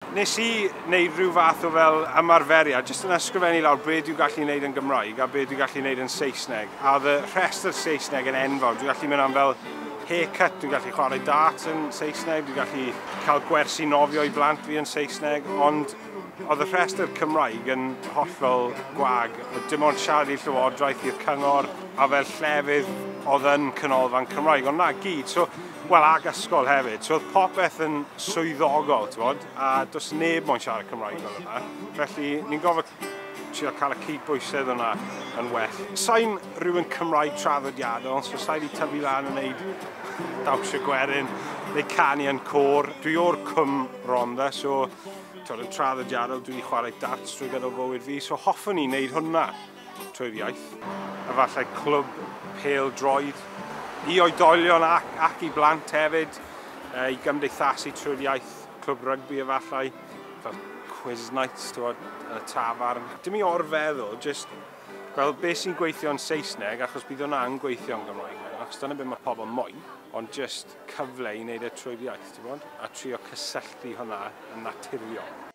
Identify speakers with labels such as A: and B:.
A: Nes i wneud rhyw fath o fel ymarferiad, jyst yn ysgrifennu lawr be dwi'n gallu wneud yn Gymraeg a be dwi'n gallu wneud yn Saesneg. A oedd y rhestr Saesneg yn enfawr. Dwi'n gallu mynd am fel haircut, dwi'n gallu chwarae darts yn Saesneg, dwi'n gallu cael gwersi nofio i blant fi yn Saesneg, ond oedd y rhestr Cymraeg yn hollol gwag. Dim ond siarad i'r llywodraeth, i'r cyngor, a fel llefydd oedd yn canolfan Cymraeg, ond na gyd. So, wel, ag ysgol hefyd. So oedd popeth yn swyddogol, ti'n bod, a does neb moyn siarad Cymraeg fel yna. Felly, ni'n gofio trio cael y cydbwysedd yna yn well. Sa'n rhywun Cymraeg traddodiadol, so sa'i wedi tyfu lan yn neud dawnsio gwerin neu canu yn côr. Dwi o'r Cwm Rhondda, so twod, yn traddodiadol dwi wedi chwarae darts drwy gydol bywyd fi, so hoffwn i wneud hwnna trwy'r iaith. Efallai clwb pêl droed i oedolion ac i blant hefyd, i gymdeithasu trwy'r iaith, clwb rygbi efallai, fel quiz nights, twod, yn y tafarn. Dim i orfeddwl, just fel beth sy'n gweithio yn Saesneg, achos bydd hwnna'n gweithio yn Gymraeg, achos dyna beth mae pobl moyn, ond just cyfle i wneud e trwy'r iaith, ti'n bod? A trio cysylltu hwnna yn naturiol.